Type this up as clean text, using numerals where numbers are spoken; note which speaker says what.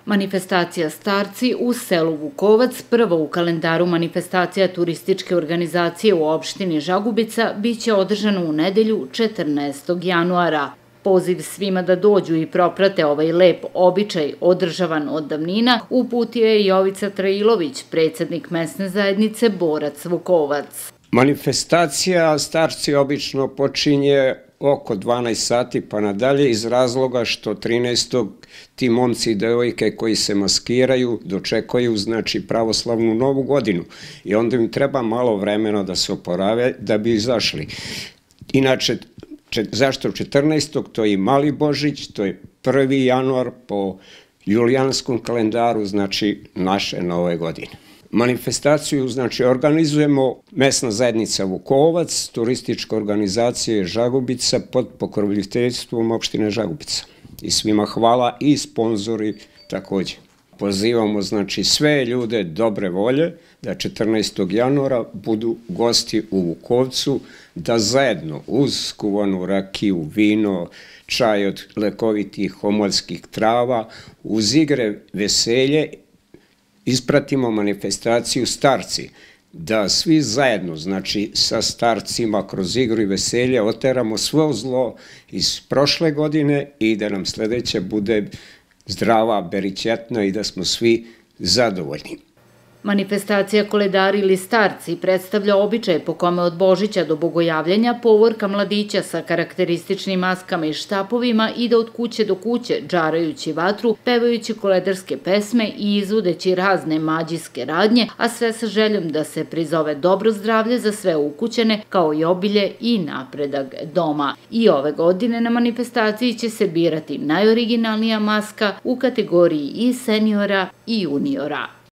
Speaker 1: Manifestacija Starci u selu Vukovac, prva u kalendaru manifestacija turističke organizacije u opštini Žagubica, biće održana u nedelju 14. januara. Poziv svima da dođu i proprate ovaj lep običaj održavan od davnina uputio je Jovica Trailović, predsjednik mesne zajednice Borac Vukovac.
Speaker 2: Manifestacija Starci obično počinje oko 12 sati pa nadalje iz razloga što 13. ti momci i devojke koji se maskiraju dočekaju znači pravoslavnu novu godinu i onda im treba malo vremena da se oporave da bi izašli. Inače, zašto 14. to je i Mali Božić, to je 1. januar po julijanskom kalendaru, znači naše nove godine. Manifestaciju znači organizujemo mesna zajednica Vukovac, turistička organizacija Žagubica pod pokroviteljstvom opštine Žagubica. I svima hvala i sponzori također. Pozivamo znači sve ljude dobre volje da 14. januara budu gosti u Vukovcu, da zajedno uz skuvanu rakiju, vino, čaj od lekovitih homoljskih trava, uz igre, veselje, ispratimo manifestaciju Starci, da svi zajedno, znači sa starcima kroz igru i veselje oteramo svo zlo iz prošle godine i da nam sljedeća bude zdrava, beričetna i da smo svi zadovoljni.
Speaker 1: Manifestacija Koledari ili Starci predstavlja običaj po kome od Božića do Bogojavljanja povorka mladića sa karakterističnim maskama i štapovima ide od kuće do kuće, džarajući vatru, pevajući koledarske pesme i izvodeći razne mađijske radnje, a sve sa željom da se prizove dobro zdravlje za sve ukućene, kao i obilje i napredak doma. I ove godine na manifestaciji će se birati najoriginalnija maska u kategoriji i seniora i juniora.